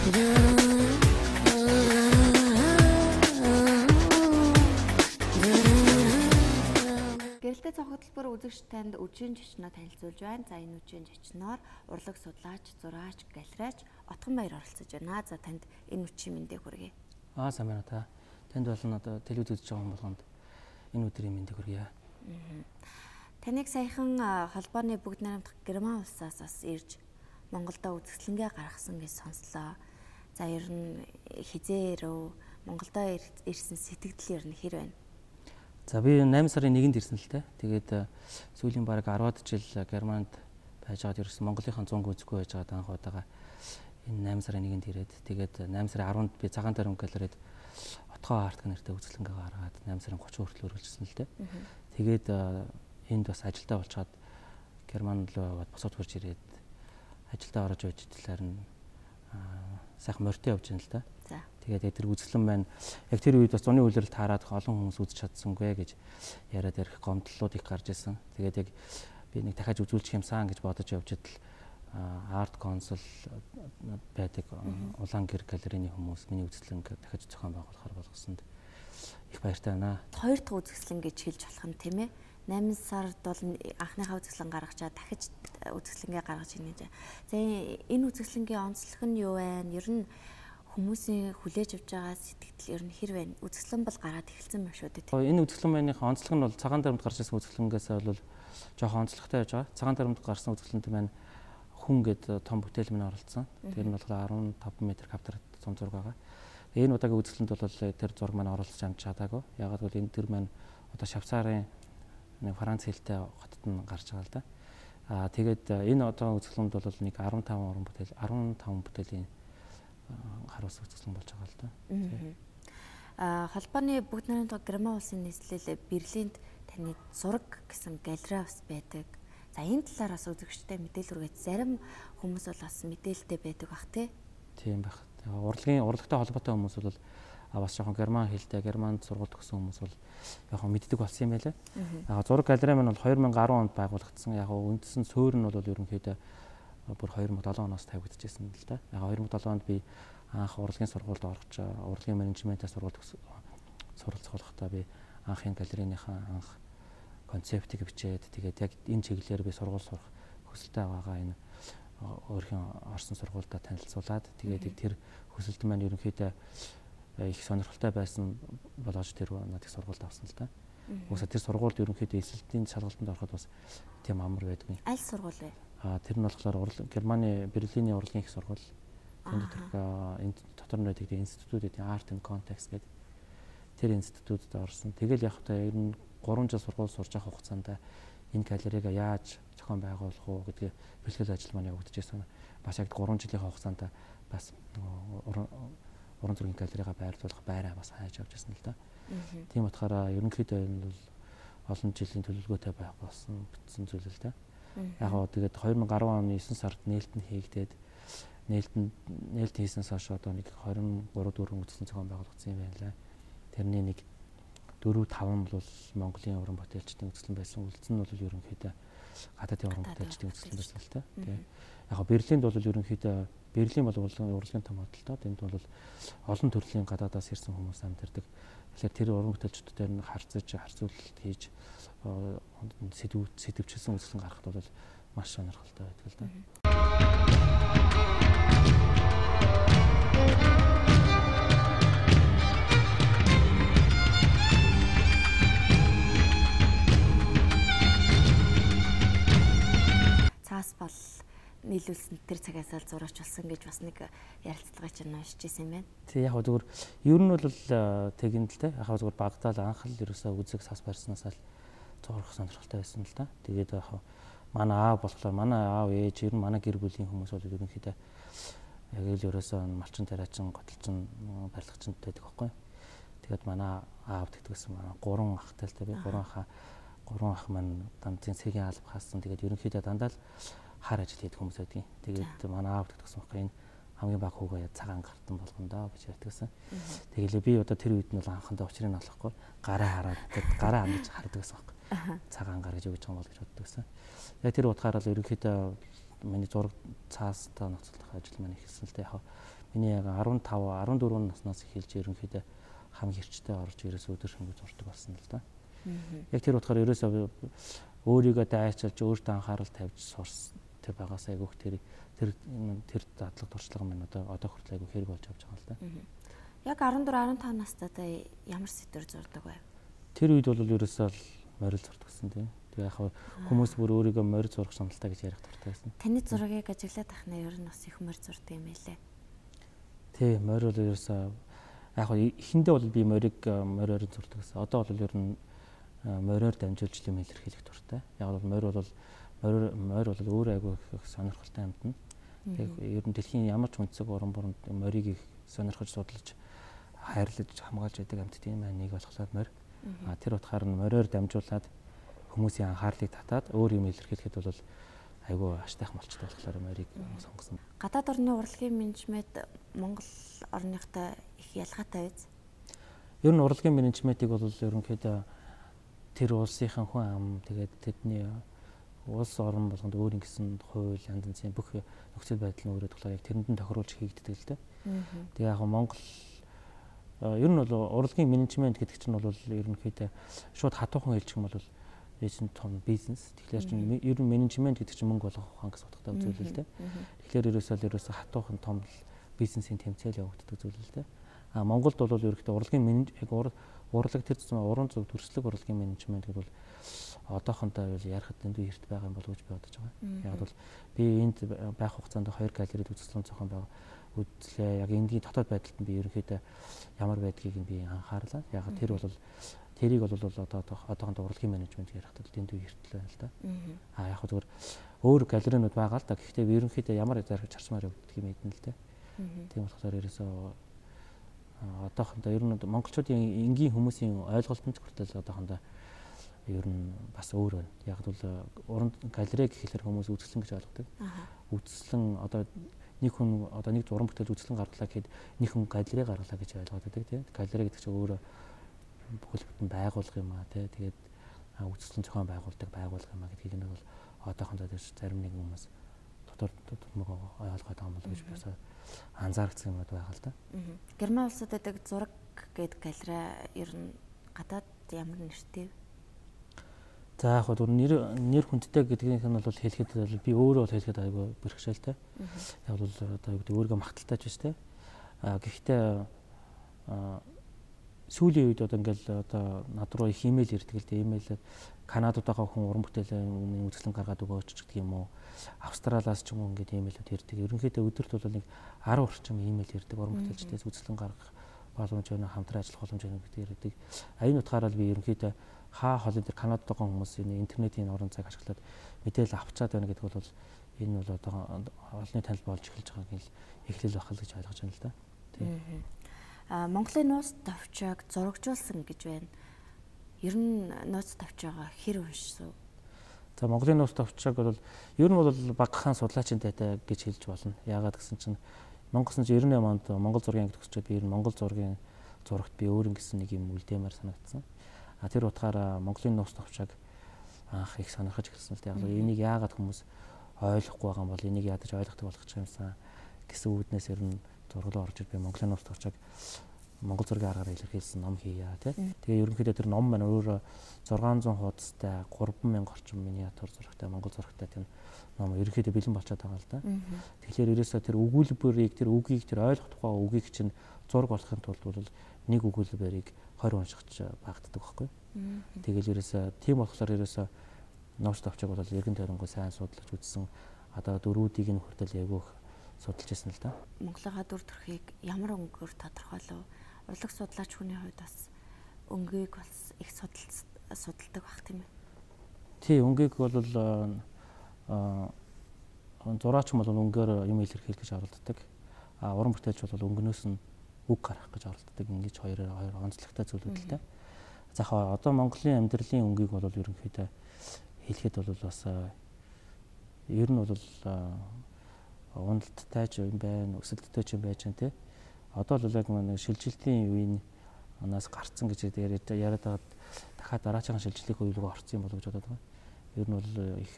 Гэрэлтэй цог хөтөлбөр үзэгч танд үжийн жичноо танилцуулж байна. За энэ үжийн жичноор урлаг судлаач, зураач, галерейч Отгон Баяр оролцож байна. За танд энэ үчийн мэндийг хүргэе. Сайн байна та. Танд болон одоо телевиз үзэж байгаа болгонд энэ өдрийн мэндийг хүргэе. Таныг саяхан холбооны бүгд найрамдах Герман улсаас бас ирж Монголдо үзэсгэлэнгээ гаргасан гэж сонслоо. За ер нь хизээ ирв Монголдо ирсэн сэтгэл ер нь хэр байна? За би 8 сарын 1-нд ирсэн л дээ. Тэгээд сүүлийн бараг 10-аад жил Германд байж байгаад ерөөсөн Монголынхаа зунг үзэхгүй байж байгаад анх удаага энэ 8 сарын 1-нд ирээд тэгээд 8 сарын 10-нд би Цагаан Тарим галерейд Отгоо арт нэртэй үзэсгэлэнгээ гаргаад 8 сарын 30 хүртэл үргэлжилсэн л дээ. Тэгээд энд бас ажилдаа болчиход Герман руу босоод хурж ирээд ажилдаа орж байж талаар нь сайхан морьтой явж байна л да. Тэгээд тэр үзэсгэлэн маань яг тэр үед бас зуны үйлрэл таарад олон хүмүүс үзэж чадсангүй гэж яриад ярих гомдлууд их гарч ирсэн. Тэгээд яг би нэг дахиад үзүүлчих юмсан гэж бодож явж идэл арт консул байдаг улаан гэр галерейний хүмүүс миний үзэсгэлэнг дахиж зохион байгуулахаар болгосонд их баяртай байна. Хоёр дахь үзэсгэлэн гэж хэлж болох юм тийм ээ. 8 сард бол анхныхаа үзэсгэлэн гаргачаа дахиж үзэсгэлэнгээ гаргаж ийнэ. За энэ үзэсгэлэнгийн онцлог нь юу вэ? Ер нь хүмүүсийн хүлээж авч байгаа сэтгэл ер нь хэр байна? Үзэсгэлэн бол гараад эхэлсэн байна шүү дээ. Энэ үзэсгэлэн байныхаа онцлог нь бол Цагаан Таримд гарч ирсэн үзэсгэлэнгээс бол жоохон онцлогтой байж байгаа. Цагаан Таримд гарсан үзэсгэлэнт маань хүн гэдэг том бүтээл минь оролцсон. Тэр нь болохоор 15 м квадрат зам зураг байгаа. Энэ удаагийн үзэсгэлэнт бол тэр зураг маань оролцож амж чадаагүй. Ягаад гэвэл энэ тэр маань одоо Швейцарын нэг Франц хэлтэй хотод нь гарч байгаа л да. Тэгээд энэ одоо үзэсгэлэнд бол нэг 15 бүтээлийн харуулсан үзэсгэлэн болж байгаа л да. Холбооны бүгд найрамдах Герман улсын нийслэл Берлинд таны зураг гэсэн галерей бас байдаг. За энэ талаар бас үзэгчтэй мэдээлэл хүргээд зарим хүмүүс бол бас мэдээлэлтэй байдаг бах тий. Тийм байх. Урлагтай холбоотой хүмүүс бол бас жоохон герман хэлтэй, германд сургууль төгссөн хүмүүс бол яг мэддэг болсон юм байлаа. Зураг галерей маань бол 2010 онд байгуулагдсан. Яг үндсэн суурь нь бол ерөнхийдөө бүр 2007 оноос тавигдчихсэн л да. Яг 2007 онд би анх урлагийн сургуульд орж урлагийн менежментээс суралцахлахдаа би анхын галерейныхаа анх концептыг бичээд тэгээд яг энэ чиглэлээр би сургууль сурах хүсэлтэй байгаагаа энэ өөрхийн орсон сургуультай танилцуулаад тэгээд тэр хүсэлт маань ерөнхийдөө их сонирхолтой байсан болооч тэр надад сургуульд авсан л да. Уусаа тэр сургуульд ерөнхийдөө эсэлтийн шалгалтанд ороход бас тийм амар байдгүй. Аль сургууль вэ? Тэр нь болохоор Германы Берлиний урлагийн их сургууль. Энд дотор нь байдаг институт гэдэг Art and Context гэдэг тэр институтэд орсон. Тэгэл яг та ер нь 3 жил сургууль сурч явах хугацаанд энэ галерейг яаж зохион байгуулах уу гэдгийг бэлтгэл ажил маань явагдчихсан. Бас яг 3 жилийн хугацаанд бас уран зургийн галерейга байрлуулах байраа бас хайж авч ирсэн л да. Тийм утгаараа ерөнхийдөө энэ бол олон жилийн төлөвлөгөөтэй байх болсон бичсэн зүйл л да. Яг гоо тэгээд 2010 оны 9 сард нээлттэй хийгдээд нээлт хийснээс хойш одоо нэг 23-4 үзэсгэлэн зохион байгуулагдсан юм байна лээ. Тэрний нэг 4-5 бол Монголын уран бүтээлчдийн үзэсгэлэн байсан. Үлдсэн нь бол ерөнхийдөө гадаадын уран бүтээлчдийн үзэсгэлэн байсан л та. Яг гоо Берлинд бол ерөнхийдөө Берлин бол урлагийн том худалдаа. Энд бол олон төрлийн гадаадаас ирсэн хүмүүс амьдардаг. Тэгэхээр тэр уран бүтээлчдүүдээр нь харьцуулалт хийж сэдвчилсэн үзэсгэлэн гаргахад бол маш сонирхолтой байдаг л да. Цаас бол нийлүүлсэн тэр цагаас л зураач болсон гэж бас нэг ярилцлагыг чинь уншиж ирсэн юм байна. Тэг яг зүгээр ер нь бол тэгэн л те. Яг зүгээр багтаал анх л ерөөсөө үзэг цаас барьснаас л зурах сонирхолтой байсан л да. Тэгээд яг манай аав болохоор манай аав ээж ер нь манай гэр бүлийн хүмүүс бол ерөнхийдөө яг л ерөөсөө малчин тариачин готолчин барилгачин байдаг байхгүй. Тэгээд манай аав тэгдэгсэн манай 3 ахтай л те. Би 3 ах маань данцын цэгийн алба хаасан. Тэгээд ерөнхийдөө дандаа л хар ажил хийдэг хүмүүс байдгийн. Тэгээд манай аав тэгдэгсэн байхгүй. Энэ хамгийн баг хүүгээ цагаан гартан болгондоо гэж ятгсан. Тэгэлээ би одоо тэр үед нь бол анхандаа учрыг нь олохгүй гараа хараад гараа хандаж хардаг гэсэн байхгүй. Цагаан гар гэж өгч байгаа бол гэж боддог гэсэн. Яг тэр утгаараа л ерөнхийдөө миний зураг цаастай ноцлох ажил маань эхэлсэн л дээ. Яг миний яг 15 14 наснаас эхэлж ерөнхийдөө хамгийн хэрчтэй орж ерөөс өдөр шөнөгүй зурдаг болсон л да. Яг тэр утгаар ерөөсөө өөрийгөө дайчилж өөртөө анхаарал тавьж сурсан тэр багаас айгүйх тэр дадлаг туршлага минь одоо хүртэл айгүй хэрэг болж авч байгаа л да. Яг 14 15 настайдаа ямар сэдвэр зурдаг вэ? Тэр үед бол ерөөсөө морил зурдаг гэсэн тийм. Тэгээ яг хүмүүс бүр өөрийгөө морил зурах шаналтай гэж ярих дуртай байсан. Таны зургийг ажиглаад тахна ер нь бас их морил зурдаг юм байлээ. Тий, морил бол ерөөсөө яг эхэндээ бол би мориор зурдаг гэсэн. Одоо бол ер нь мориор дамжуулж юм илэрхийлэх дуртай. Яг бол морь бол өөр айгүй их сонирхолтой юмд нь. Тэгээ ер нь дэлхийн ямар ч үндэсэг орон боронд морийг их сонирхож судлаж хайрлаж хамгаалж байдаг амьтд тийм нэг болохоор морь. Тэр утгаар нь мориор дамжуулаад хүмүүсийн анхаарлыг татаад өөр юм илэрхийлэхэд бол айгүй аштайх малчтай болохоор морийг сонгосон. Гадаад орны урлагийн менежмент Монгол орныхтой их ялгаатай биз? Ер нь урлагийн менежментийг бол ерөнхийдөө тэр улсынхан хүн ам тэгээд тэдний улс орн болгонд өөр ингэсэн хууль янз бүрийн бүх нөхцөл байдал нь өөрөө болохоор яг тэрэнд нь тохируулж хийгддэг л дээ. Тэгээ яг Монгол ер нь бол урлагийн менежмент гэдэг чинь бол ерөнхийдөө шууд хатуухан хэлчих юм бол энэ том бизнес. Тэгэхээр ер нь менежмент гэдэг чинь мөнгө олгох ухаан гэсэн утгатай зүйл л дээ. Тэгэхээр ерөөсөө хатуухан том бизнесийн тэмцээл явагддаг зүйл л дээ. Монголд бол ерөнхийдөө урлагийн урлаг тэр зам уран зөв төрслөг урлагийн менежмент гэдэг бол одоохондоо ярихад дэндүү эрт байгаа юм болов уу гэж би бодож байгаа. Яг бол би энд байх хугацаанд 2 галерейд үзэсгэлэн зохион байгаа үзлээ. Яг энэний дотоод байдалд нь би ерөнхийдөө ямар байдгийг нь би анхаарлаа. Яг тэр бол тэрийг бол одоохондоо урлагийн менежмент ярихад дэндүү эртлээ байна л да. Яг зүгээр өөр галерейнууд байгаа л да. Гэхдээ би ерөнхийдөө ямар зарчмаар явагддаг юм эдэн л дээ. Тийм болохоор ерөөсөө одоохондоо ер нь монголчуудын энгийн хүмүүсийн ойлголт нь хүртэл одоохондоо ер нь бас өөр байна. Яг бол уран галерей гэхэлэр хүмүүс үзэсгэлэн гэж ойлгодог. Үзэсгэлэн одоо нэг хүн нэг зураг бүтээл үзэсгэлэн гаргалаа гэхэд нэг хүн галерей гаргалаа гэж ойлгоод байдаг тийм. Галерей гэдэг чинь өөрөө бүхэл бүтэн байгуулга юм аа тийм. Тэгээд үзэсгэлэн зохион байгуулдаг байгуулга юм аа гэдгийг нь бол одоохондоо зарим нэг хүмүүс дотор ойлгоод байгаа юм болов гэж би анзаарчихсан юм байгаа л да. Герман улсад байдаг зураг гэдэг галерей ер нь гадаад ямар нэртэй вэ? За яг хөө нэр хүндтэй гэдгийг нь бол хэлэхэд би өөрөө бол хэлэхэд айгүй бэрхшээлтэй. Яг бол одоо юу гэдэг өөрийгөө магталтайч биш те. Гэхдээ сүүлийн үед одоо ингээл одоо над руу их имэйл ирдэг л дээ. Имэйлээр Канадад байгаа хүн уран бүтээлийн үзэсгэлэн гаргаад өгөөч гэдэг юм уу. Австралиас ч юм уу ингээд имэйлүүд ирдэг. Ерөнхийдөө өдөрт бол нэг 10 орчим имэйл ирдэг уран бүтээлчдээс үзэсгэлэн гаргах боломж өгнө, хамтран ажиллах боломж өгнө гэдэг ирдэг. Энэ утгаараа би ерөнхийдөө хаа холын дээр Канадад байгаа хүмүүс энэ интернетийн орон зайг ашиглаад мэдээлэл авчаад байна гэдэг бол энэ бол одоо олонний танил болж эхэлж байгааг л эхлэл байх л гэж ойлгож байна л да. Тийм. Монголын нууц товчоог зурагжуулсан гэж байна. Ер нь нууц товчоогоо хэр уншсан? За Монголын нууц товчоог бол ер нь бол багахан судлаачийн тайтай гэж хэлж болно. Яагаад гэсэн чинь Монгол 98 онд Монгол зургийн ангид төгсчөөд би ер нь Монгол зургийн зурагт би өөр ингэсэн нэг юм үлдээмээр санагдсан. Тэр утгаараа Монголын нууц товчоог анх их сонирхож эхэлсэн л дээ. Яг энийг яагаад хүмүүс ойлгохгүй байгаа юм бол энийг ядаж ойлгохдаг болох ч юмсан гэсэн үүднээс ер нь зурглал орж ир би Монголын нууц товчоог Монгол зургийн аргаар илэрхийлсэн ном хийя тий. Тэгээ ерөнхийдөө тэр ном маань өөрөө 600 хуудастай 3000 орчим миниатюр зурагтай Монгол зурагтай тийм ном ерөнхийдөө бэлэн болчиход байгаа л да. Тэгэхээр ерөөсөө тэр өгүүлбэрийг тэр үгийг тэр ойлгох тухай үгийг чинь зураг болохын тулд бол нэг өгүүлбэрийг 20 уншигч багтдаг байхгүй. Тэгэл ерөөсөө тийм болохоор ерөөсөө нууц товчоог бол эргэн тойронгоо сайн судлаж үзсэн. Одоо дөрүүдийг нь хүртэл эвгүйх судалж ирсэн л да. Монголынхаа дүр төрхийг ямар өнгөөр тодорхойлов? Урлаг судлаач хүний хувьд бас өнгийг бас их судалдаг бах тийм ээ. Тий, өнгийг бол зураач бол өнгөөр юм илэрхийлэх гэж оролддог. Уран бүтээлч бол өнгөнөөс нь үг гаргах гэж оролддог. Ингэж хоёр онцлогтой зүйлүүд л дээ. За одоо Монголын амьдралын өнгийг бол ерөнхийдөө хэлэхэд бол бас ер нь бол уналттай ч юм байна, өсөлттэй ч юм байж байна те. Одоо л яг нэг шилжилтийн үеийн анаас гарцсан гэж яриад байгаад дахиад дараагийн шилжилтийн үе рүү орсон юм болов гэж бодоод байгаа. Ер нь бол их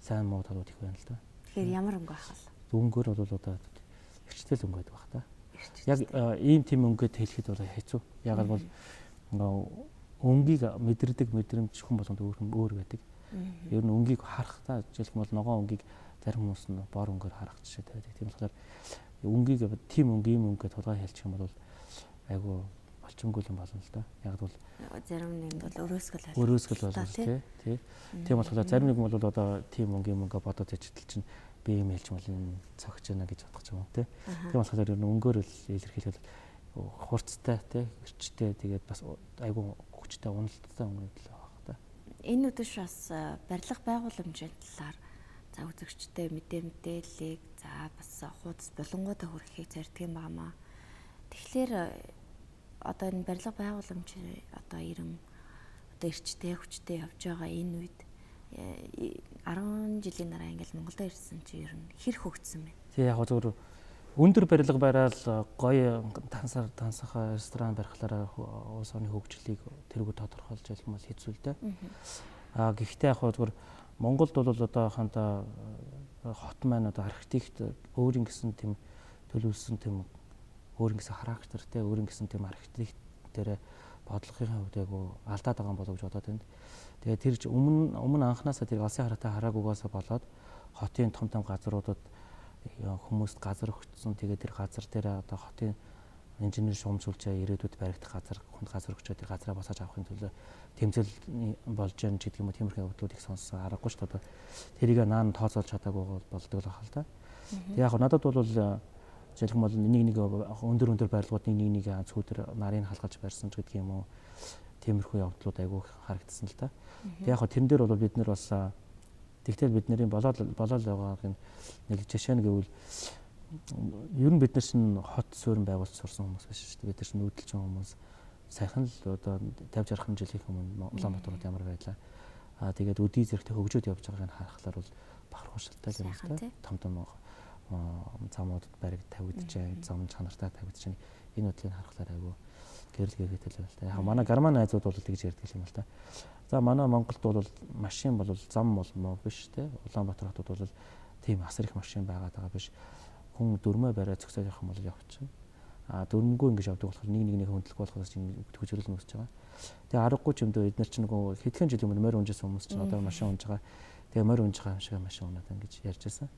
сайн муу талууд их байна л да. Тэгэхээр ямар өнгө байх вэ? Өнгөөр бол одоо эрчтэй өнгө байдаг баг та. Яг ийм тийм өнгөд хэлэхэд бол хэцүү. Ягаад бол өнгийг мэдэрдэг мэдрэмж хүн болгонд өөр байдаг. Ер нь өнгийг харахтаа жишээлбэл бол ногоон өнгийг зарим хүмүүс нь бор өнгөөр харах жишээтэй байдаг. Тийм болохоор өнгийг тийм өнг ийм өнгөд тулгай хэлчих юм бол айгу болчонгүй юм болно л да. Яг бол зарим нэгэнд бол өрөөсгөл болно тий. Тийм болохоор зарим нэг бол одоо тийм өнг ийм өнгө бодоод ичтэл чинь би юм хэлж мал энэ цогч яана гэж бодох юм тий. Тийм болохоор ер нь өнгөөр л илэрхийлэл хурцтай тий эрчтэй тэгээд бас айгу хүчтэй уналттай өнгө л байгаа та. Энэ үдэш бас барилга байгууламжийн талаар за үзэгчтэй мэдээллийг за бас хуудас болонгуудаа хүргэхийг зорддог юм байна. Тэгэхээр одоо энэ барилга байгууламж одоо ирэн одоо эрчтэй хүчтэй явж байгаа энэ үед 10 жилийн дараа ингээл Монголд ирсэн чи ер нь хэр хөгжсөн бэ? Тий яг зөв өндөр барилга бараал гоё тансах ресторан барихлаараа улс орны хөгжлийг тэргүй тодорхойлж ялах юм бол хэцүү л дээ. Гэхдээ яг зөв Монголд бол одоо ханда хот маань одоо архитект өөрийн гэсэн тийм төлөвлөсөн тийм өөрийн гэсэн характертэй өөрийн гэсэн тийм архитект дээр бодлогын хувьд яг алдаад байгаа юм болов гэж бодоод байна. Тэгээд тэр өмнө анханасаа тэр алсын хараатай хараагүйгаасаа болоод хотын том газруудад хүмүүст газар өгсөн. Тэгээд тэр газар дээр одоо хотын инженер шуумжуулчаа ирээдүйд баригдах хүнд газар өгчөө тэр газраа босоож авахын төлөө тэмцэл болж яана гэдэг юм уу тиймэрхүү явдлууд их сонссон аргагүй шүү дээ. Тэрийг наан тооцоолж чадаагүй болдог л ахал та. Яг надад бол жишээлбэл бол нэг өндөр барилгууд нэг цүүдэр нарыг халгаж барьсан ч гэдэг юм уу тиймэрхүү явдлууд айгүй харагдсан л та. Яг тэрэн дээр бол бид нэр бас тэгтэл бидний болоод байгааг нэг жишээ нь гэвэл ер нь бид нар чинь хот суурин байгуулж сурсан хүмүүс биш шүү дээ. Бид нар чинь нүүдэлчин хүмүүс сайхан л одоо 50-60 жилийн өмнө Улаанбаатарт ямар байлаа. Тэгээд өдий зэрэгтэй хөгжөөд явж байгааг нь харахаар бол бахархууштай юм л та. Том замуудад бариг тавигдчихээн, зам чанартай тавигдчихээн. Энэ үдлийг харахаар айгүй гэрэл гэрэгтэй л байна л та. Яг манай герман найзууд бол тэгж ярьдаг юм л та. За манай Монголд бол машин бол зам бол муу биш те. Улаанбаатар хотод бол тийм асар их машин байгаад байгаа биш. Хүн дөрмөө бариад зөксөж явах юм бол явчихна. Дөрмгөө ингэж явдаг болохоор нэг хөндлөх болохоос төгжрөл нөсөж байгаа. Тэгээ аргагүй ч юм дөө эдгээр чинь нөгөө хэдхэн жилийн өмнө морь унжсэн хүмүүс чинь одоо машин унж байгаа. Тэгээ морь унж байгаа юм шиг машин унаад ингэж ярьж байсан.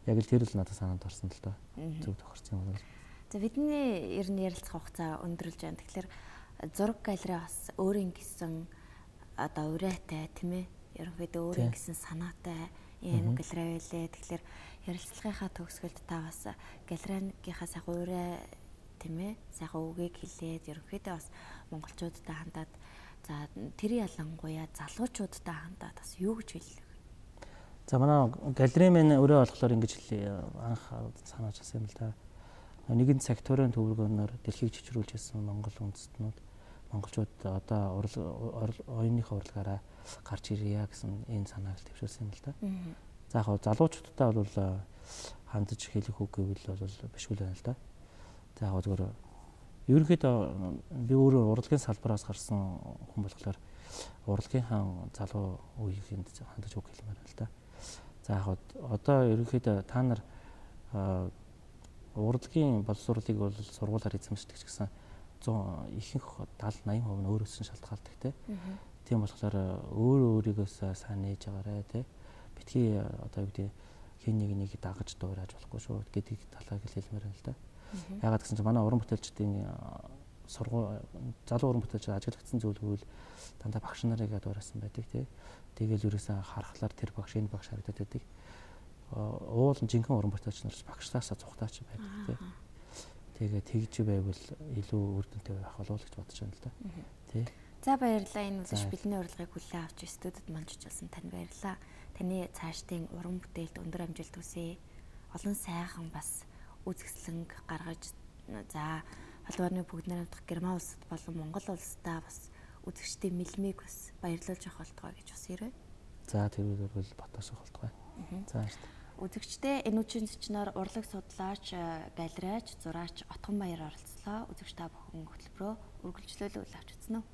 Яг л тэр л надад санаанд орсон л доо. Зөв тохирсон юм бол. За бидний ер нь ярилцах хугацаа өндөрлж байна. Тэгэхээр зураг галерей бас өөрийн гэсэн одоо урайтай тийм ээ. Ерөнхийдөө өөрийн гэсэн санаатай ийм галерей байлээ. Тэгэхээр ярилцлагынхаа төгсгөлд та бас галерейгийнхаа сайхан урай тийм ээ. Сайхан үгийг хэлээд ерөнхийдөө бас монголчуудтай хандаад за тэр ялангуяа залуучуудтай хандаад бас юу гэж хэлэх вэ? За манай галерей маань өрөө болохоор ингэж анх санааж авсан юм л да. Нэгэн секторын төвлөгөөнөөр дэлхийг чичрүүлж ирсэн Монгол үндэстнүүд монголчууд одоо оюуныхаа урлагаараа гарч ирье гэсэн энэ санааг төвшүүлсэн юм л да. За яг залуучуудтай бол хандаж хэлэх үг гэвэл бол бишгүй л байна л да. За яг зөвөр ерөнхийдөө би өөрөө урлагийн салбараас гарсан хүн болохоор урлагийнхаа залуу үеийнхэнд хандаж үг хэлмээр байна л да. За яг одоо ерөнхийдөө та нар урлагийн боловсруулалтыг бол сургуулиар эзэмшдэг ч гэсэн ихэнх 70-80% нь өөрөөс нь шалтгаалдаг те. Тийм болохоор өөрийгөөс сайн нээж байгаарэ те. Битгий одоо юу гэдэг хин нэг дагаж дуурайж болохгүй шүү гэдэг талаар хэлмээр байна л да. Ягаад гэсэн чинь манай уран бүтээлчдийн залуу уран бүтээлчид ажиглагдсан зүйл гэвэл дандаа багш нарыг дуурайсан байдаг те. Тэгэл ерөөсөө харахаар тэр багш энэ багш харагдаад байдаг. Уул жинхэнэ уран бүтээлч нар багшаасаа цухтаач байдаг те. Тэгээ тэгж байвал илүү үр дүнтэй байх болов уу гэж бодож байна л да. Тий. За баярлалаа. Энэ үлж бидний урилгыг хүлээн авч студид манжуулсан танд баярлалаа. Таны цаашдын уран бүтээлд өндөр амжилт хүсье. Олон сайхан бас үзэсгэлэнг гаргаж за холбооны бүгд найрамдах Герман улсад болон Монгол улсдаа бас үзэгчдийн мэлмийг бас баярлуулж авах болтугай гэж бас ирвэ. За тэрүүгээр бол баташ авах болтугай. За шүү. Үзэгчдээ энэ үеийн зочноор урлаг судлаач, галерейч, зураач Отгон Баяр оролцлоо. Үзэгч та бүхэн хөтөлбөрөө үргэлжлүүлэл авч үзсэн үү?